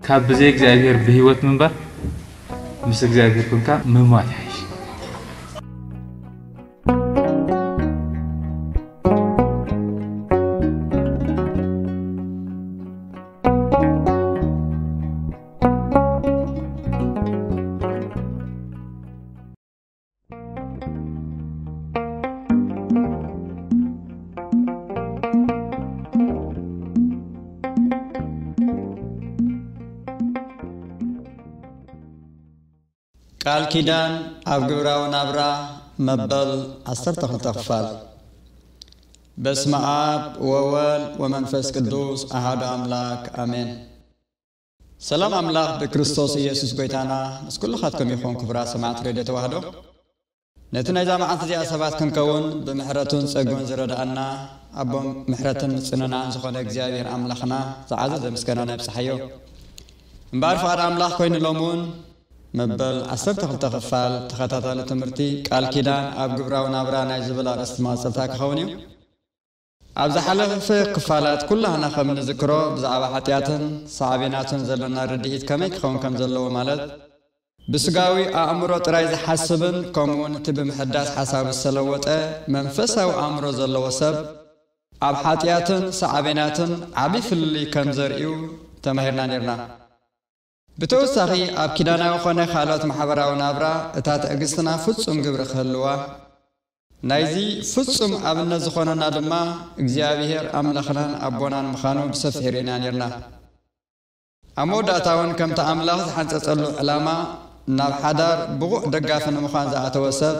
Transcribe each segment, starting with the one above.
ካብ ብዘይ እግዚኣብሔር ብህይወት ምንባር፣ ምስ እግዚኣብሔር ኮንካ ምሟት ይሓይሽ። ቃል ኪዳን ኣብ ግብራዊ ናብራ መበል ዓሰርተ ክልተ ክፋል። በስመ ኣብ ወወልድ ወመንፈስ ቅዱስ ኣሃዱ ኣምላክ ኣሜን። ሰላም ኣምላኽ ብክርስቶስ ኢየሱስ ጎይታና ምስ ኩልኻትኩም ይኹን። ክቡራት ሰማዕት ሬድዮ ተዋህዶ፣ ነቲ ናይዛ መዓልቲ እዚኣ ሰባት ክንከውን ብምሕረቱን ጸግኡን ዝረድኣና፣ ኣቦ ምሕረትን ምጽንናዕን ዝኾነ እግዚኣብሔር ኣምላኽና ዝዓዘዘ ምስጋና ነብጽሓዮ። እምበኣር ፍቓድ ኣምላኽ ኮይኑ ሎም እውን መበል ዓሰርተ ክልተ ክፋል ተኸታታሊ ትምህርቲ ቃል ኪዳን ኣብ ግብራዊ ናብራ ናይ ዝብል ኣርእስቲ መቐጸልታ ክኸውን እዩ። ኣብ ዝሓለፈ ክፋላት ኩላህና ከም እንዝክሮ ብዛዕባ ሓጢኣትን ሳዕቤናቱን ዘለና ርድኢት ከመይ ክኸውን ከም ዘለዎ፣ ማለት ብስጋዊ ኣእምሮ ጥራይ ዝሓስብን ከምኡውን እቲ ብምሕዳስ ሓሳቡ ዝተለወጠ መንፈሳዊ ኣእምሮ ዘለዎ ሰብ ኣብ ሓጢኣትን ሳዕቤናትን ዓቢ ፍልልይ ከም ዘርእዩ ተማሂርና ኔርና። ብተወሳኺ ኣብ ኪዳናዊ ኾነ ካልኦት ማሕበራዊ ናብራ እታ ትዕግስትና ፍጹም ግብሪ ክህልዋ፣ ናይዚ ፍጹም ኣብነት ዝኾነና ድማ እግዚኣብሔር ኣምላኽናን ኣቦናን ምዃኑ ብሰፊሑ ርኢና ኔርና። ኣብ መወዳእታ እውን ከምቲ ኣምላኽ ዝሓንጸጸሉ ዕላማ ናብ ሓዳር ብቑዕ ደጋፊ ንምዃን ዝኣተወ ሰብ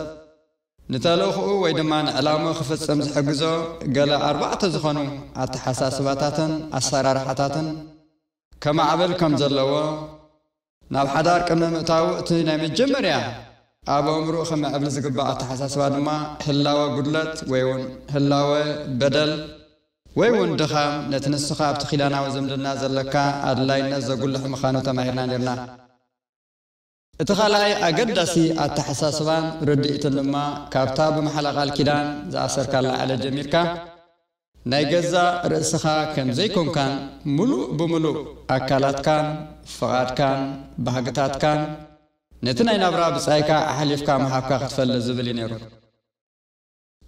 ንተልእኽኡ ወይ ድማ ንዕላምኡ ክፍጽም ዝሕግዞ ገለ ኣርባዕተ ዝኾኑ ኣተሓሳስባታትን ኣሰራርሓታትን ከማዕብል ከም ዘለዎ፣ ናብ ሓዳር ቅድሚ ምእታዉ እቲ ናይ መጀመርያ ኣብ ኣእምሮኡ ክምዕብል ዝግባእ ኣተሓሳስባ ድማ ህላወ ጉድለት ወይ እውን ህላወ በደል ወይ እውን ድኻም ነቲ ንስኻ ኣብቲ ኪዳናዊ ዝምድና ዘለካ ኣድላይነት ዘጉልሕ ምዃኑ ተማሂርና ኔርና። እቲ ካልኣይ ኣገዳሲ ኣተሓሳስባን ርድኢትን ድማ ካብታ ብምሓላ ቃል ኪዳን ዝኣሰርካላ ዕለት ጀሚርካ ናይ ገዛእ ርእስኻ ከም ዘይኮንካን ምሉእ ብምሉእ ኣካላትካን ፍቓድካን ባህግታትካን ነቲ ናይ ናብራ ብጻይካ ኣሕሊፍካ ምሃብካ ክትፈልጥ ዝብል እዩ ነይሩ።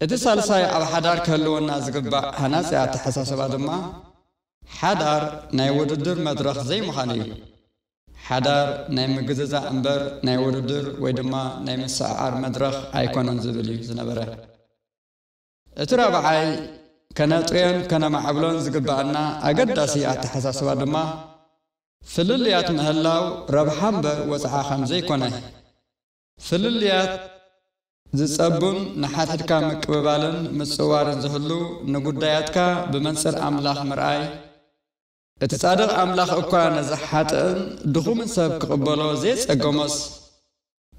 እቲ ሳልሳይ ኣብ ሓዳር ክህልወና ዝግባእ ሃናጺ ኣተሓሳስባ ድማ ሓዳር ናይ ውድድር መድረኽ ዘይምዃኑ እዩ። ሓዳር ናይ ምግዝዛእ እምበር ናይ ውድድር ወይ ድማ ናይ ምስዕዓር መድረኽ ኣይኮነን ዝብል እዩ ዝነበረ። እቲ ራብዓይ ከነጥርዮን ከነማዕብሎን ዝግባኣና ኣገዳሲ ኣተሓሳስባ ድማ ፍልልያት ምህላው ረብሓ እምበር ወጽዓ ከም ዘይኮነ፣ ፍልልያት ዝጸቡን ንሓድሕድካ ምቅብባልን ምጽዋርን ዝህሉ ንጉዳያትካ ብመንጽር ኣምላኽ ምርኣይ፣ እቲ ጻድቕ ኣምላኽ እኳ ነዚ ሓጥእን ድኹምን ሰብ ክቕበሎ ዘየጸገሞስ፣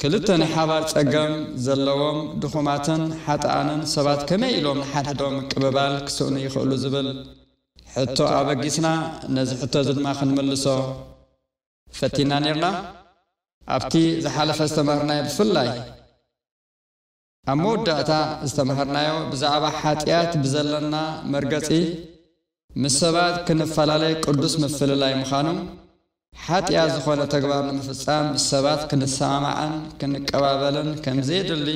ክልተ ናይ ሓባር ጸገም ዘለዎም ድኹማትን ሓጥኣንን ሰባት ከመይ ኢሎም ንሓድሕዶም ምቅብባል ክስእኑ ይኽእሉ ዝብል ሕቶ ኣበጊስና፣ ነዚ ሕቶ እዚ ድማ ክንምልሶ ፈቲና ኔርና። ኣብቲ ዝሓለፈ ዝተማህርናዮ ብፍላይ ኣብ መወዳእታ ዝተማሃርናዮ ብዛዕባ ሓጢኣት ብዘለና መርገጺ ምስ ሰባት ክንፈላለይ ቅዱስ ምፍልላይ ምዃኑ፣ ሓጢኣት ዝኾነ ተግባር ንምፍጻም ምስ ሰባት ክንሰማማዕን ክንቀባበልን ከም ዘየድሊ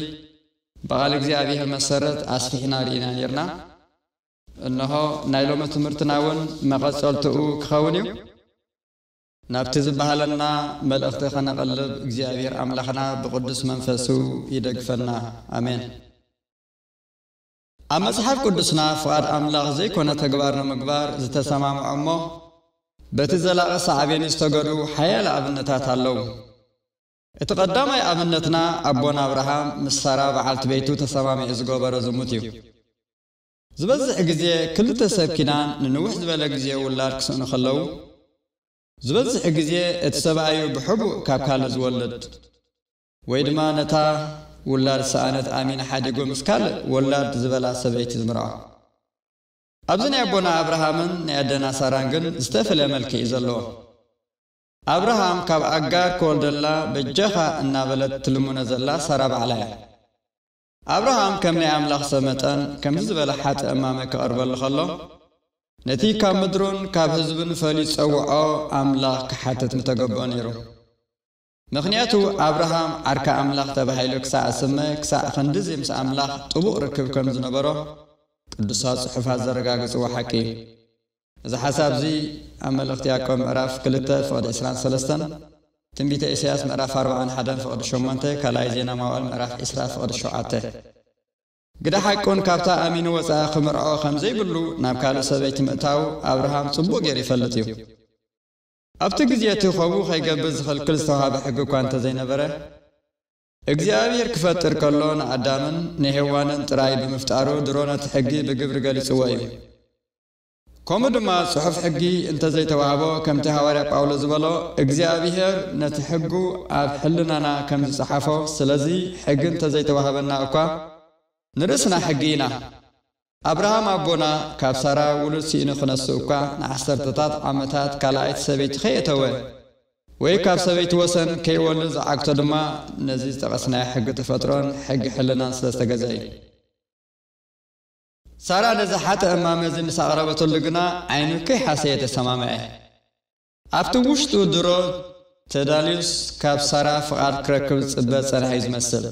ብቓል እግዚኣብሔር መሰረት ኣስፊሕና ርኢና ኔርና። እንሆ ናይ ሎሚ ትምህርትና እውን መቐጸልትኡ ክኸውን እዩ። ናብቲ ዝበሃለና መልእኽቲ ኸነቐልብ እግዚኣብሔር ኣምላኽና ብቕዱስ መንፈሱ ይደግፈና። ኣሜን። ኣብ መጽሓፍ ቅዱስና ፍቓድ ኣምላኽ ዘይኮነ ተግባር ንምግባር ዝተሰማምዖ እሞ በቲ ዘላቒ ሳዕቤን ዝተገዱ ሓያለ ኣብነታት ኣለዉ። እቲ ቀዳማይ ኣብነትና ኣቦና ኣብርሃም ምስ ሳራ በዓልቲ ቤቱ ተሰማሚዑ ዝገበሮ ዝሙት እዩ። ዝበዝሕ ግዜ ክልተ ሰብ ኪዳን ንንውሕ ዝበለ ግዜ ውላድ ክስእኑ ከለዉ፣ ዝበዝሕ ግዜ እቲ ሰብኣይ እዩ ብሕቡእ ካብ ካልእ ዝወልድ፣ ወይ ድማ ነታ ውላድ ዝሰኣነት ኣሚን ሓዲጉ ምስ ካልእ ወላድ ዝበላ ሰበይቲ ዝምርዖ። ኣብዚ ናይ ኣቦና ኣብርሃምን ናይ ኣደና ሳራን ግን ዝተፈልየ መልክዕ እዩ ዘለዎ። ኣብርሃም ካብ ኣጋር ክወልደላ በጃኻ እናበለት ትልምኖ ዘላ ሳራ ባዕላ እያ። ኣብርሃም ከም ናይ ኣምላኽ ሰብ መጠን ከምዚ ዝበለ ሓጥእ እማመ ክቐርበሉ ከሎ፣ ነቲ ካብ ምድሩን ካብ ህዝብን ፈልዩ ዝጸውዖ ኣምላኽ ክሓትት ምተገብኦ ነይሩ። ምኽንያቱ ኣብርሃም ዓርካ ኣምላኽ ተባሂሉ ክሳዕ ዝስመ፣ ክሳዕ ክንድዚ ምስ ኣምላኽ ጥቡቕ ርክብ ከም ዝነበሮ ቅዱሳት ጽሑፋት ዘረጋግጽዎ ሓቂ እዩ። እዚ ሓሳብ እዚ ኣብ መልእኽቲ ያዕቆብ ምዕራፍ ክልተ ፍቕዲ ዕስራን ሰለስተን፣ ትንቢተ ኢሳያስ ምዕራፍ ኣርባዓን ሓደን ፍቕዲ ሸሞንተ፣ ካልኣይ ዜና መዋዕል ምዕራፍ ዕስራ ፍቕዲ ሸውዓተ። ግደ ሓቁን ካብታ ኣሚኑ ወፃኢ ክምርዖ ከም ዘይብሉ ናብ ካልእ ሰበይቲ ምእታው ኣብርሃም ጽቡቕ ገይሩ ይፈልጥ እዩ። ኣብቲ ግዜ እቲ ከምኡ ከይገብር ዝኽልክል ዝተዋህበ ሕጊ እኳ እንተዘይነበረ፣ እግዚኣብሔር ክፈጥር ከሎ ንኣዳምን ንሄዋንን ጥራይ ብምፍጣሩ ድሮ ነቲ ሕጊ ብግብሪ ገሊጽዎ እዩ። ከምኡ ድማ ጽሑፍ ሕጊ እንተዘይተዋህቦ፣ ከምቲ ሃዋርያ ጳውሎስ ዝበሎ፣ እግዚኣብሔር ነቲ ሕጉ ኣብ ሕልናና ከም ዝጸሓፎ፣ ስለዚ ሕጊ እንተዘይተዋህበና እኳ ንርእስና ሕጊ ኢና። ኣብርሃም ኣቦና ካብ ሳራ ውሉድ ስኢኑ ክነሱ እኳ ንዓሰርተታት ዓመታት ካልኣይቲ ሰበይቲ ከየእተወ ወይ ካብ ሰበይቲ ወሰን ከይወልድ ዝዓግቶ ድማ ነዚ ዝጠቐስናዮ ሕጊ ተፈጥሮን ሕጊ ሕልናን ስለ ዝተገዘአ እዩ። ሳራ ነዚ ሓጥእ እማመ እዚ ምስ ኣቕረበትሉ ግና ዓይኑ ከይሓሰየ ተሰማምዐ። ኣብቲ ውሽጡ ድሮ ተዳልዩስ ካብ ሳራ ፍቓድ ክረክብ ዝጽበ ጸንሐ እዩ ዝመስል።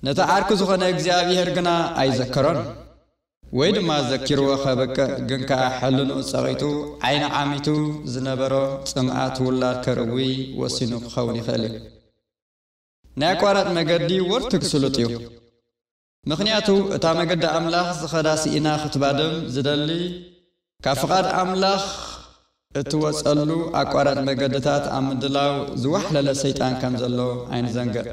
ነቲ ዓርኩ ዝኾነ እግዚኣብሔር ግና ኣይዘከሮን፣ ወይ ድማ ዘኪርዎ ከብቅዕ ግን ከኣ ሕልንኡ ጸቒጡ ዓይኒ ዓሚቱ ዝነበሮ ጽምኣት ውላድ ከርእዊ ወሲኑ ክኸውን ይኽእል እዩ። ናይ ኣቋራጭ መገዲ ወርትግ ስሉጥ እዩ። ምኽንያቱ እታ መገዲ ኣምላኽ ዝኸዳ ስኢና ክትባድም ዝደሊ ካብ ፍቓድ ኣምላኽ እትወጸሉ ኣቋራጭ መገድታት ኣብ ምድላው ዝዋሕለለ ሰይጣን ከም ዘሎ ኣይንዘንግዕ።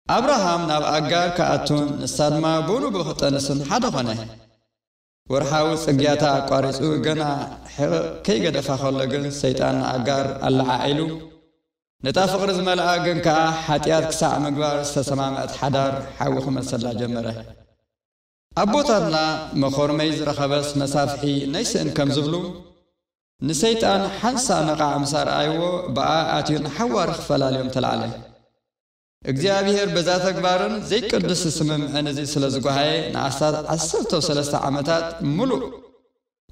ኣብርሃም ናብ ኣጋር ክኣቱን ንሳ ድማ ብንቡእ ክጠንስን ሓደ ኾነ። ወርሓዊ ጽግያታ ኣቋሪጹ ገና ሕቕቕ ከይገደፋ ከሎ ግን ሰይጣን ንኣጋር ኣለዓዒሉ ነታ ፍቕሪ ዝመልኣ ግን ከኣ ሓጢኣት ክሳዕ ምግባር ዝተሰማምዐት ሓዳር ሓዊ ክመሰላ ጀመረ። ኣቦታትና መኾርመይ ዝረኸበስ መሳፍሒ ነይስእን ከም ዝብሉ ንሰይጣን ሓንሳእ ነቓዕ ምስ ኣርኣይዎ ብኣ ኣትዩ ንሓዋሩ ክፈላልዮም ተላዕለ። እግዚኣብሔር በዛ ተግባርን ዘይቅዱስ ስምምዕን እዚ ስለ ዝጓሃየ ንኣስታት ዓሰርተ ሰለስተ ዓመታት ምሉእ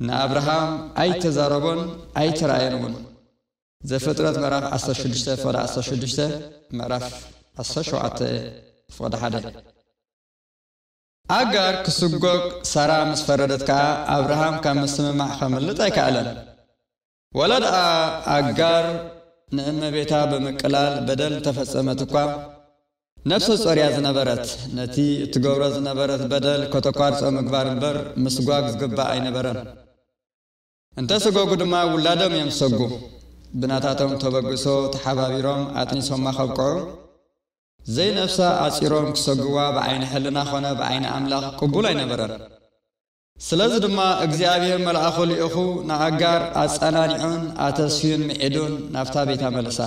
ንኣብርሃም ኣይተዛረቦን ኣይተራእየን እውን። ዘፍጥረት ምዕራፍ ዓሰርተ ሽዱሽተ ፍቕዲ ዓሰርተ ሽዱሽተ፣ ምዕራፍ ዓሰርተ ሸውዓተ ፍቕዲ ሓደ። ኣጋር ክስጎግ ሳራ ምስ ፈረደት ከኣ ኣብርሃም ካብ ምስምማዕ ከምልጥ ኣይከኣለን። ወላ ደኣ ኣጋር ንእመቤታ ብምቅላል በደል እንተፈጸመት እኳ፣ ነፍሰ ጾር እያ ዝነበረት። ነቲ እትገብሮ ዝነበረት በደል ከተቋርጾ ምግባር እምበር ምስጓግ ዝግባእ ኣይነበረን። እንተ ሰጎጉ ድማ ውላዶም እዮም ዝሰጉ። ብናታቶም ተበግሶ ተሓባቢሮም ኣጥኒሶማ ከብቅዑ፣ ዘይነፍሳ ኣጺሮም ክሰጉዋ ብዓይኒ ሕልና ኾነ ብዓይኒ ኣምላኽ ቅቡል ኣይነበረን። ስለዚ ድማ እግዚኣብሔር መልኣኹ ልኢኹ ንኣጋር ኣጸናኒዑን ኣተስፍዩን ምዒዱን ናብታ ቤታ መለሳ።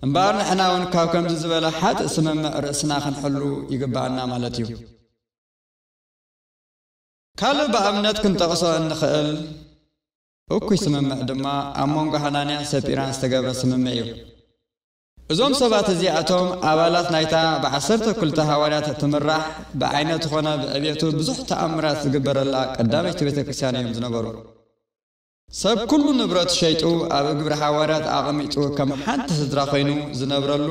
እምበኣር ንሕና እውን ካብ ከምዚ ዝበለ ሓጥእ ስምምዕ ርእስና ክንሕሉ ይግብኣና ማለት እዩ። ካልእ ብኣብነት ክንጠቕሶ እንኽእል እኩይ ስምምዕ ድማ ኣብ መንጎ ሃናንያን ሰጲራን ዝተገብረ ስምምዕ እዩ። እዞም ሰባት እዚኣቶም ኣባላት ናይታ ብዓሰርተ ክልተ ሃዋርያት እትምራሕ ብዓይነቱ ኾነ ብዕቤቱ ብዙሕ ተኣምራት ዝግበረላ ቀዳመይቲ ቤተ ክርስቲያን እዮም ዝነበሩ። ሰብ ኩሉ ንብረቱ ሸይጡ ኣብ እግሪ ሃዋርያት ኣቐሚጡ ከም ሓንቲ ስድራ ኮይኑ ዝነብረሉ፣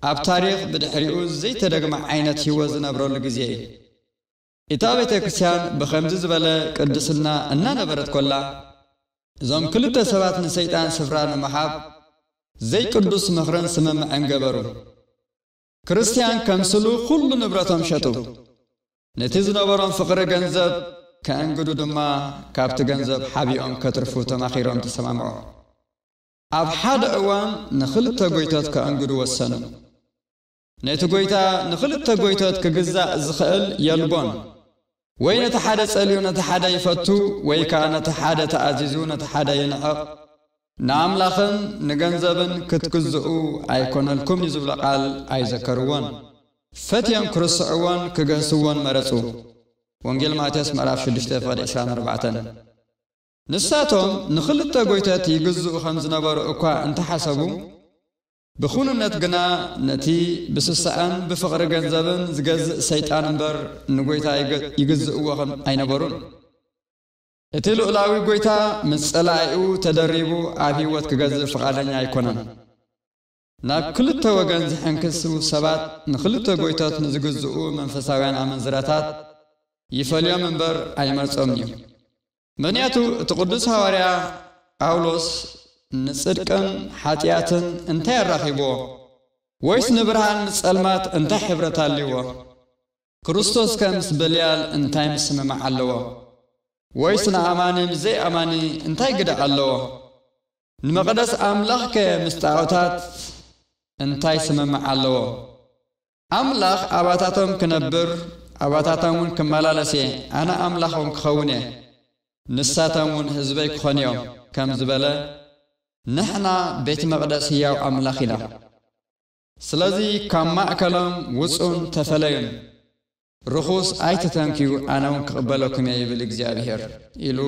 ኣብ ታሪኽ ብድሕሪኡ ዘይተደግመ ዓይነት ህይወት ዝነብረሉ ግዜ እዩ። እታ ቤተ ክርስቲያን ብኸምዚ ዝበለ ቅድስና እናነበረት ኮላ፣ እዞም ክልተ ሰባት ንሰይጣን ስፍራ ንምሃብ ዘይቅዱስ ምኽርን ስምምዕን ገበሩ። ክርስትያን ከምስሉ ኩሉ ንብረቶም ሸጡ። ነቲ ዝነበሮም ፍቕሪ ገንዘብ ከእንግዱ ድማ ካብቲ ገንዘብ ሓቢኦም ከትርፉ ተማኺሮም ተሰማምዑ። ኣብ ሓደ እዋን ንኽልተ ጎይቶት ከእንግዱ ወሰኑ። ነቲ ጎይታ ንኽልተ ጎይቶት ክግዛእ ዝኽእል የልቦን። ወይ ነቲ ሓደ ጸልዩ ነቲ ሓደ ይፈቱ፣ ወይ ከኣ ነቲ ሓደ ተኣዚዙ ነቲ ሓደ ይንዕቕ። ንኣምላኽን ንገንዘብን ክትግዝኡ ኣይኮነልኩምን እዩ ዝብሎ ቃል ኣይዘከርዎን። ፈትዮም ክርስዕዎን ክገህስዎን መረጹ። ወንጌል ማቴዎስ ምዕራፍ ሽዱሽተ ፍቕዲ ዕስራን ኣርባዕተን። ንሳቶም ንኽልተ ጎይቶት ይግዝኡ ከም ዝነበሩ እኳ እንተሓሰቡ፣ ብኹንነት ግና ነቲ ብስስዐን ብፍቕሪ ገንዘብን ዝገዝእ ሰይጣን እምበር ንጎይታ ይገ-፣ ይግዝእዎ ከም ኣይነበሩን። እቲ ልኡላዊ ጐይታ ምስ ጸላኢኡ ተደሪቡ ኣብ ህይወት ክገዝእ ፍቓደኛ ኣይኮነን። ናብ ክልተ ወገን ዝሕንክሱ ሰባት ንኽልተ ጐይቶት ንዝግዝኡ መንፈሳውያን ኣመንዝራታት ይፈልዮም እምበር ኣይመርጾምን እዩ። ምኽንያቱ እቲ ቅዱስ ሃዋርያ ጳውሎስ ንጽድቅን ሓጢኣትን እንታይ ኣራኺብዎ? ወይስ ንብርሃን ምስ ጸልማት እንታይ ሕብረት ኣልዎ? ክርስቶስ ከ ምስ በልያል እንታይ ምስምማዕ ኣለዎ? ወይስ ንኣማኒ ምስ ዘይኣማኒ እንታይ ግደ ኣለዎ? ንመቕደስ ኣምላኽ ከ ምስ ጣዖታት እንታይ ስምምዕ ኣለዎ? ኣምላኽ ኣባታቶም ክነብር፣ ኣባታቶም እውን ክመላለስ እየ፣ ኣነ ኣምላኾም ክኸውን እየ፣ ንሳቶም እውን ህዝበይ ክኾኑ እዮም ከም ዝበለ፣ ንሕና ቤት መቕደስ ህያው ኣምላኽ ኢና። ስለዚ ካብ ማእከሎም ውጹን ተፈለዩን፣ ርኹስ ኣይትተንክዩ፣ ኣነ እውን ክቕበለኩም እየ ይብል እግዚኣብሄር ኢሉ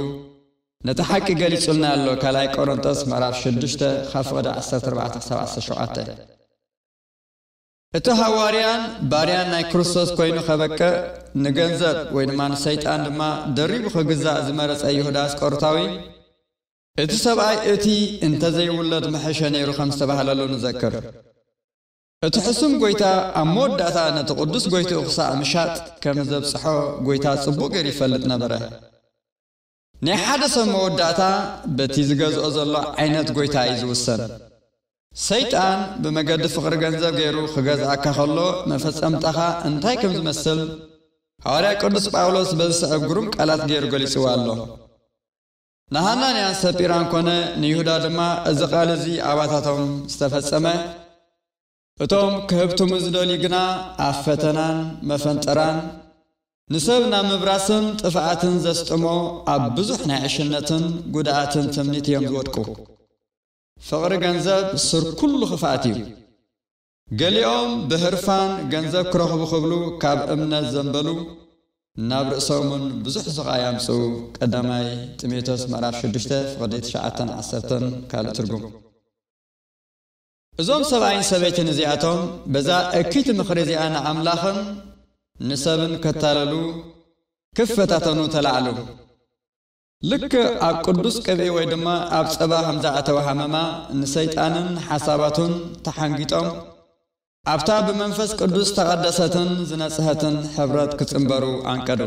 ነቲ ሓቂ ገሊጹልና ኣሎ። ካልኣይ ቆሮንጦስ ምዕራፍ ሽዱሽተ ካብ ፍቕዲ ዓሰርተ ኣርባዕተ ክሳብ ዓሰርተ ሸውዓተ። እቲ ሃዋርያን ባርያን ናይ ክርስቶስ ኮይኑ ከበቅዕ ንገንዘብ ወይ ድማ ንሰይጣን ድማ ደሪቡ ክግዛእ ዝመረጸ ይሁዳ ኣስቆሮታዊ እቲ ሰብኣይ እቲ እንተዘይውለድ ምሐሸ ነይሩ ከም ዝተባህለሉ ንዘክር። እቲ ሕሱም ጐይታ ኣብ መወዳእታ ነቲ ቅዱስ ጐይትኡ ክሳዕ ምሻጥ ከም ዘብጽሖ ጐይታ ጽቡቕ ገይሩ ይፈልጥ ነበረ። ናይ ሓደ ሰብ መወዳእታ በቲ ዝገዝኦ ዘሎ ዓይነት ጐይታ እዩ ዝውሰን። ሰይጣን ብመገዲ ፍቕሪ ገንዘብ ገይሩ ክገዝኣካ ከሎ መፈጸምታኻ እንታይ ከም ዝመስል ሃዋርያ ቅዱስ ጳውሎስ በዚ ስዕብ ግሩም ቃላት ገይሩ ገሊጽዎ ኣሎ። ንሃናንያን ሰጲራን ኮነ ንይሁዳ ድማ እዚ ቃል እዚ ኣባታቶም ዝተፈጸመ፣ እቶም ክህብትሙ ዝደልዩ ግና ኣብ ፈተናን መፈንጠራን ንሰብ ናብ ምብራስን ጥፍኣትን ዘስጥሞ ኣብ ብዙሕ ናይ ዕሽነትን ጉድኣትን ትምኒት እዮም ዝወድቁ። ፍቕሪ ገንዘብ ሱር ኩሉ ክፍኣት እዩ። ገሊኦም ብህርፋን ገንዘብ ክረኽቡ ክብሉ ካብ እምነት ዘንበሉ፣ ናብ ርእሶምን ብዙሕ ስቓይ ኣምጽኡ። ቀዳማይ ጢሞቴዎስ ምዕራፍ ሽዱሽተ ፍቕዲ ትሽዓተን ዓሰርተን ካልእ ትርጉም። እዞም ሰብኣይን ሰበይትን እዚኣቶም በዛ እኪት ምኽሪ እዚኣ ንኣምላኽን ንሰብን ከታለሉ ክፈታተኑ ተላዕሉ። ልክዕ ኣብ ቅዱስ ቅብኢ ወይ ድማ ኣብ ጸባ ከም ዝኣተወ ሃመማ ንሰይጣንን ሓሳባቱን ተሓንጊጦም ኣብታ ብመንፈስ ቅዱስ ዝተቐደሰትን ዝነጽሀትን ሕብረት ክጽንበሩ ኣንቀዱ።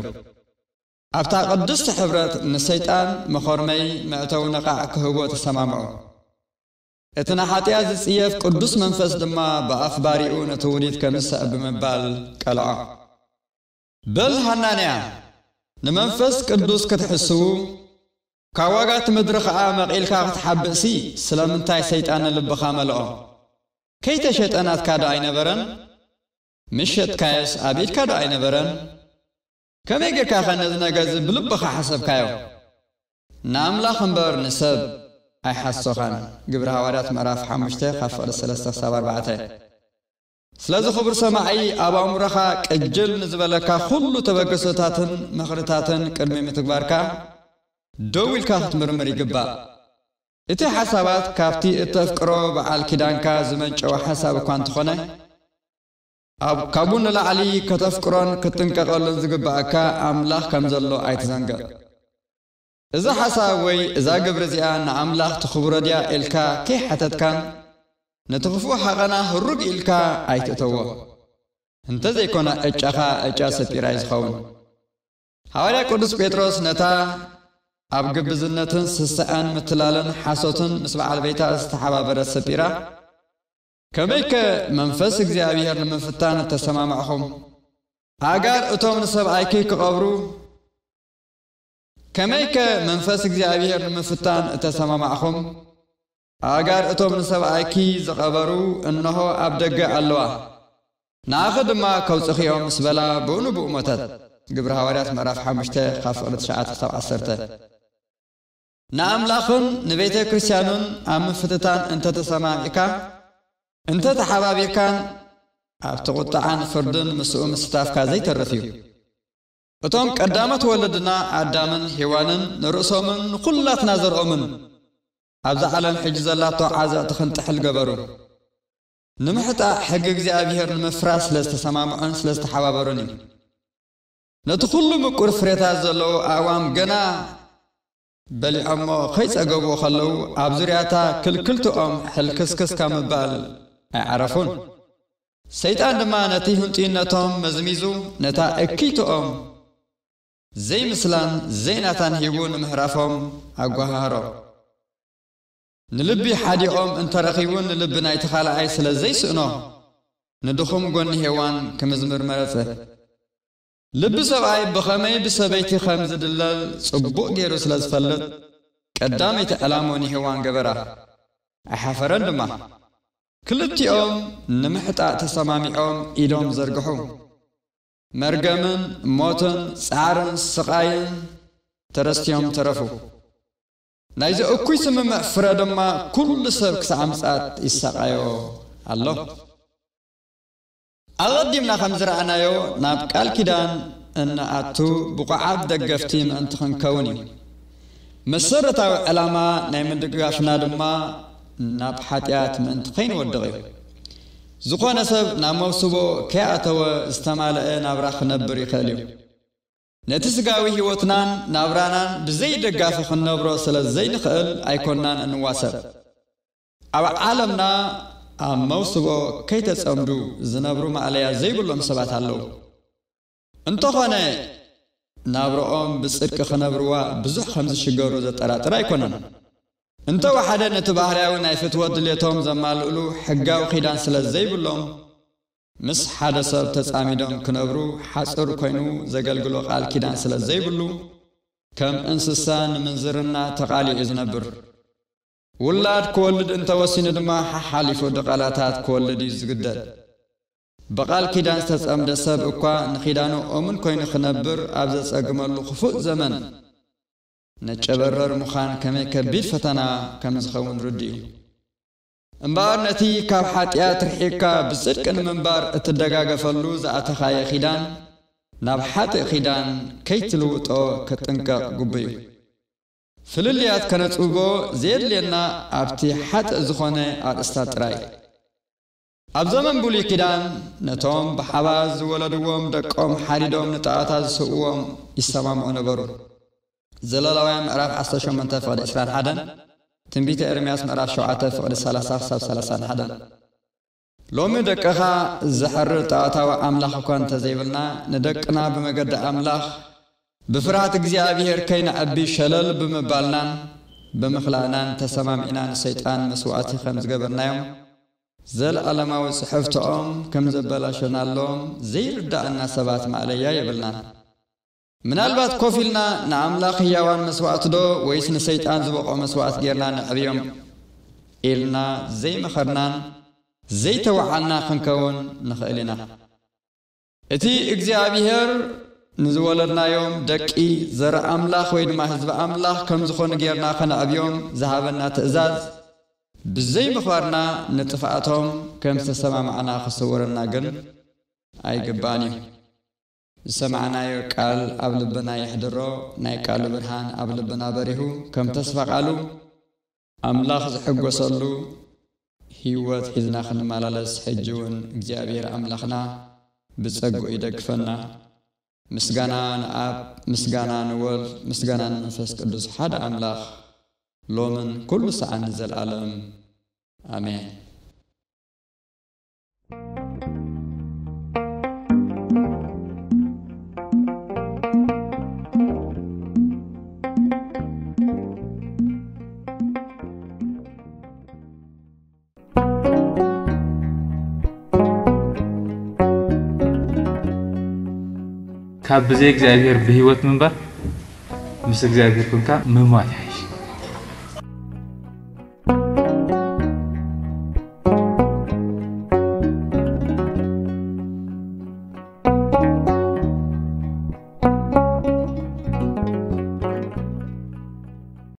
ኣብታ ቅድስቲ ሕብረት ንሰይጣን መኾርመይ መእተዊ ነቓዕ ክህቦ ተሰማምዑ። እቲ ንሓጢኣት ዝጽየፍ ቅዱስ መንፈስ ድማ ብኣፍ ባሪኡ ነቲ ውዲት ከም ዝስዕብ ብምባል ቀልዖ። በል ሃናንያ፣ ንመንፈስ ቅዱስ ክትሕስዉ፣ ካብ ዋጋ እቲ ምድሪ ኸኣ መቒልካ ክትሓብእሲ፣ ስለምንታይ ሰይጣን ንልብኻ መልኦ? ከይተሸጠ ናትካ ዶ ኣይነበረን? ምስ ሸጥካዮስ ኣብ ኢድካ ዶ ኣይነበረን? ከመይ ጌርካ ኸ ነዚ ነገር እዚ ብልብኻ ሓሰብካዮ? ንኣምላኽ እምበር ንሰብ ኣይሓሶኻን። ግብሪ ሃዋርያት ምዕራፍ ሓሙሽተ ካብ ፍቕዲ ሰለስተ ክሳብ ኣርባዕተ። ስለዚ ክቡር ሰማዒ፣ ኣብ ኣእምሮኻ ቅጅል ንዝበለካ ኩሉ ተበግሶታትን ምኽርታትን ቅድሚ ምትግባርካ ደው ኢልካ ክትምርምር ይግባእ። እቲ ሓሳባት ካብቲ እተፍቅሮ በዓል ኪዳንካ ዝመንጨወ ሓሳብ እኳ እንተኾነ፣ ኣብ ካብኡ ንላዕሊ ከተፍቅሮን ክትጥንቀቐሉን ዝግብኣካ ኣምላኽ ከም ዘሎ ኣይትዘንግዕ። እዚ ሓሳብ ወይ እዛ ግብሪ እዚኣ ንኣምላኽ ትኽብሮ ድያ ኢልካ ከይሓተትካን ነቲ ክፉእ ሓቐና ህሩግ ኢልካ ኣይትእተዎ። እንተዘይኮነ ዕጫኻ ዕጫ ሰጲራ እዩ ዝኸውን። ሃዋርያ ቅዱስ ጴጥሮስ ነታ ኣብ ግብዝነትን ስስዐን ምትላልን ሓሶትን ምስ በዓል ቤታ ዝተሓባበረት ሰጲራ፣ ከመይከ መንፈስ እግዚኣብሔር ንምፍታን እተሰማማዕኹም? ኣእጋር እቶም ንሰብኣይኪ ክቐብሩ፣ ከመይከ መንፈስ እግዚኣብሔር ንምፍታን እተሰማማዕኹም? ኣእጋር እቶም ንሰብኣይኪ ዝቐበሩ እንሆ ኣብ ደገ ኣለዋ፣ ንኣኺ ድማ ከውጽኺ እዮም ምስ በላ ብኡ ንብኡ ሞተት። ግብሪ ሃዋርያት ምዕራፍ ሓሙሽተ ካብ ፍቕዲ ትሽዓተ ክሳብ ዓሰርተ። ንኣምላኽን ንቤተ ክርስቲያኑን ኣብ ምፍትታን እንተተሰማሚዕካ፣ እንተተሓባቢርካን ኣብቲ ቁጥዓን ፍርድን ምስኡ ምስታፍካ ዘይተርፍ እዩ። እቶም ቀዳሞት ወለድና ኣዳምን ሄዋንን ንርእሶምን ንኹላትና ዘርኦምን ኣብዛ ዓለም ሕጂ ዘላቶ ዓዘቕቲ ክንጥሕል ገበሩ። ንምሕጣእ ሕጊ እግዚኣብሔር ንምፍራስ ስለ ዝተሰማምዑን ስለ ዝተሓባበሩን እዩ። ነቲ ኩሉ ምቁር ፍሬታት ዘለዎ ኣእዋም ገና በሊዖሞ ከይጸገቡ ከለዉ፣ ኣብ ዙርያታ ክልክልትኦም ሕልክስክስ ካብ ምባል ኣይዓረፉን። ሰይጣን ድማ ነቲ ህንጡይነቶም መዝሚዙ፣ ነታ እክይትኦም ዘይምስላን ዘይናታን ሂቡ ንምሕራፎም ኣጓሃህሮ። ንልቢ ሓዲኦም እንተረኺቡ፣ ንልቢ ናይቲ ካልኣይ ስለ ዘይስእኖ፣ ንድኹም ጎኒ ሄዋን ክምዝምር መረጸ። ልቢ ሰብኣይ ብኸመይ ብሰበይቲ ከም ዝድለል ጽቡቕ ገይሩ ስለ ዝፈልጥ፣ ቀዳመይቲ ዕላሞ ንሄዋን ገበራ። ኣይሓፈረን ድማ። ክልቲኦም ንምሕጣእ ተሰማሚዖም ኢዶም ዘርግሑ። መርገምን ሞትን ጻዕርን ስቓይን ተረስቲዮም ተረፉ። ናይዚ እኩይ ስምምዕ ፍረ ድማ ኩሉ ሰብ ክሳዕ ምጽኣት ይሳቐዮ ኣሎ። ኣቐዲምና ከም ዝረኣናዮ፣ ናብ ቃል ኪዳን እንኣቱ ብቑዓት ደገፍቲ ምእንቲ ክንከውን እዩ። መሰረታዊ ዕላማ ናይ ምድግጋፍና ድማ ናብ ሓጢኣት ምእንቲ ከይንወድቕ እዩ። ዝኾነ ሰብ ናብ መውስቦ ከይኣተወ ዝተማልአ ናብራ ክነብር ይኽእል እዩ። ነቲ ስጋዊ ህይወትናን ናብራናን ብዘይ ደጋፊ ክንነብሮ ስለ ዘይንኽእል ኣይኮንናን እንዋሰብ። ኣብ ዓለምና ኣብ መውስቦ ከይተጸምዱ ዝነብሩ ማእለያ ዘይብሎም ሰባት ኣለዉ። እንተኾነ ናብርኦም ብጽድቂ ክነብርዋ ብዙሕ ከም ዝሽገሩ ዘጠራጥር ኣይኮነን። እንተወሓደ ነቲ ባህርያዊ ናይ ፍትወት ድሌቶም ዘማልእሉ ሕጋዊ ኪዳን ስለ ዘይብሎም፣ ምስ ሓደ ሰብ ተጻሚዶም ክነብሩ ሓጹር ኮይኑ ዘገልግሎ ቃል ኪዳን ስለ ዘይብሉ፣ ከም እንስሳ ንምንዝርና ተቓሊዑ ዝነብር። ውላድ ክወልድ እንተወሲኑ ድማ ሓሓሊፉ ድቓላታት ክወልድ እዩ ዝግደድ። ብቓል ኪዳን ዝተጸምደ ሰብ እኳ ንኪዳኑ እሙን ኮይኑ ክነብር ኣብ ዘጸግመሉ ክፉእ ዘመን፣ ነጨበረር ምዃን ከመይ ከቢድ ፈተና ከም ዝኸውን ርዱእ እዩ። እምበኣር ነቲ ካብ ሓጢኣት ርሒቕካ ብጽድቂ ንምንባር እትደጋገፈሉ ዝኣተኻዮ ኪዳን ናብ ሓጥእ ኪዳን ከይትልውጦ ክጥንቀቕ ግቡእ እዩ። ፍልልያት ከነጽብቦ ዘየድልየና ኣብቲ ሓጥእ ዝኾነ ኣርእስታት ጥራይ። ኣብ ዘመን ብሉይ ኪዳን ነቶም ብሓባር ዝወለድዎም ደቆም ሓዲዶም ንጣዖታት ዝስውዎም ይሰማምዑ ነበሩ። ዘለዋውያን ምዕራፍ ዓሰርተ ሸሞንተ ፍቕዲ ዕስራን ሓደን፣ ትንቢተ ኤርምያስ ምዕራፍ ሸውዓተ ፍቕዲ ሰላሳ ክሳብ ሰላሳን ሓደን። ሎሚ ደቅኻ ዘሕርር ጣዖታዊ ኣምላኽ እኳ እንተዘይብልና፣ ንደቅና ብመገዲ ኣምላኽ ብፍርሃት እግዚኣብሔር ከይነዕቢ ሸለል ብምባልናን ብምኽላእናን ተሰማሚዕና ንሰይጣን መስዋእቲ ከም ዝገበርናዮም፣ ዘለኣለማዊ ጽሕፍቶኦም ከም ዘበላሸናሎም ዘይርዳእና ሰባት ማእለያ የብልናን። ምናልባት ኮፍ ኢልና ንኣምላኽ ህያዋን መስዋእቲ ዶ ወይስ ንሰይጣን ዝበቕዖ መስዋእቲ ጌርና ነዕብዮም ኢልና ዘይመኸርናን ዘይተወዓልና ክንከውን ንኽእል ኢና። እቲ እግዚኣብሔር ንዝወለድናዮም ደቂ ዘርኢ ኣምላኽ ወይ ድማ ህዝቢ ኣምላኽ ከም ዝኾኑ ጌርና ከነዕብዮም ዝሃበና ትእዛዝ ብዘይምኽባርና ንጥፍኣቶም ከም ዝተሰማማዕና ክስወረና ግን ኣይግባእን እዩ። ዝሰማዕናዮ ቃል ኣብ ልብና የሕድሮ፣ ናይ ቃሉ ብርሃን ኣብ ልብና በሪሁ፣ ከም ተስፋ ቃሉ ኣምላኽ ዝሕጎሰሉ ህይወት ሒዝና ክንመላለስ፣ ሕጂ እውን እግዚኣብሔር ኣምላኽና ብጸግኡ ይደግፈና። ምስጋና ንኣብ፣ ምስጋና ንወልድ፣ ምስጋና ንመንፈስ ቅዱስ ሓደ ኣምላኽ ሎምን ኩሉ ሰዓን ንዘለኣለም። ኣሜን። ካብ ብዘይ እግዚኣብሔር ብህይወት ምንባር ምስ እግዚኣብሔር ኮንካ ምሟት ይሓይሽ።